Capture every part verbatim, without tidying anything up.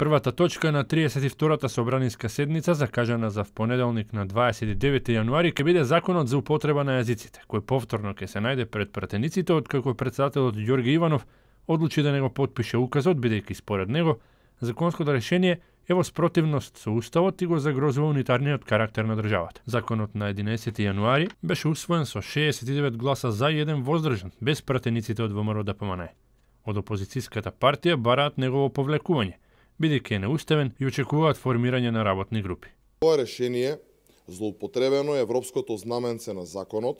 Првата точка на триесет и втората собраниска седница, закажана за понеделник на дваесет и девети јануари, ќе биде законот за употреба на јазиците, кој повторно ќе се најде пред пратениците, откако председателот Ѓорги Иванов одлучи да не го потпише указот, бидејќи според него законското решение е во спротивност со уставот и го загрозува унитарниот карактер на државата. Законот на единаесети јануари беше усвоен со шеесет и девет гласа за и еден воздржан, без пратениците од ВМРО Д П М Н. Од опозицијската партија бараат негово повлекување, бидејќи е неуставен и очекуваат формирање на работни групи. Ова решение злоупотребено е европското знаменце на законот,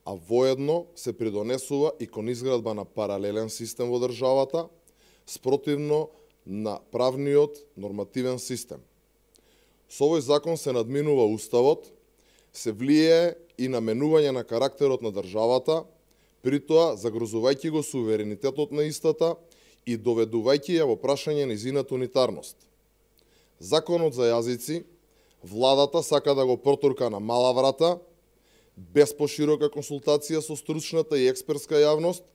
а воедно се придонесува и кон изградба на паралелен систем во државата, спротивно на правниот нормативен систем. Со овој закон се надминува уставот, се влијае и на менување на карактерот на државата, притоа загрозувајќи го суверенитетот на истата и доведувајќи ја во прашање нејзината унитарност. Законот за јазици, владата сака да го протурка на мала врата, без поширока консултација со стручната и експертска јавност,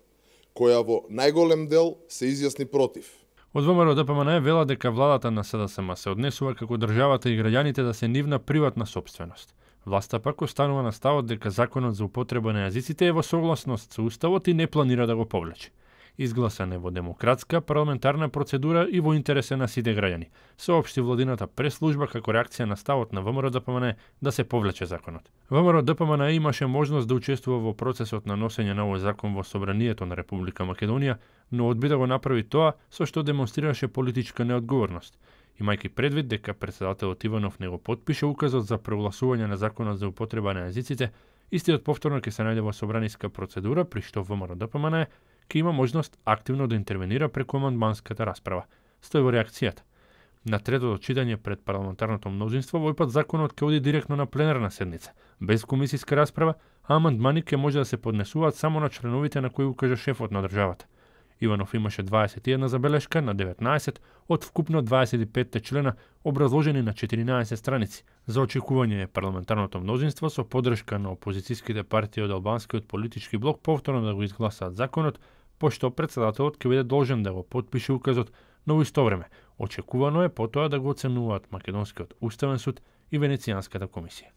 која во најголем дел се изјасни против. Од ВМРО Д П М Н вела дека владата на С Д С М се однесува како државата и граѓаните да се нивна приватна сопственост. Власта пак останува на ставот дека законот за употреба на јазиците е во согласност со уставот и не планира да го повлече. Изгласан е во демократска парламентарна процедура и во интересе на сите граѓани, соопшти владината прес-служба како реакција на ставот на ВМРО Д П М Н да се повлече законот. ВМРО Д П М Н имаше можност да учествува во процесот на носење на овој закон во Собранието на Република Македонија, но одби да го направи тоа со што демонстрираше политичка неодговорност, имајќи предвид дека председателот Иванов не го потпише указот за прогласување на законот за употреба на јазиците, истиот повторно ќе се најде во собраниска процедура, при што ВМРО Д П М Н ќе има можност активно да интервенира преку амандманската расправа. Стои во реакцијата. На третото читање пред парламентарното мнозинство, овој пат законот ќе оди директно на пленарна седница, без комисиска расправа, а амандмани ќе може да се поднесуваат само на членовите на кои укаже шефот на државата. Иванов имаше дваесет и една забелешка на деветнаесет од вкупно дваесет и пет члена, образложени на четиринаесет страници. За очекување е парламентарното мнозинство со поддршка на опозицијските партии од албанскиот политички блок повторно да го изгласаат законот, пошто председателот ќе биде должен да го потпише указот, но во исто време очекувано е потоа да го оценуваат Македонскиот уставен суд и Венецијанската комисија.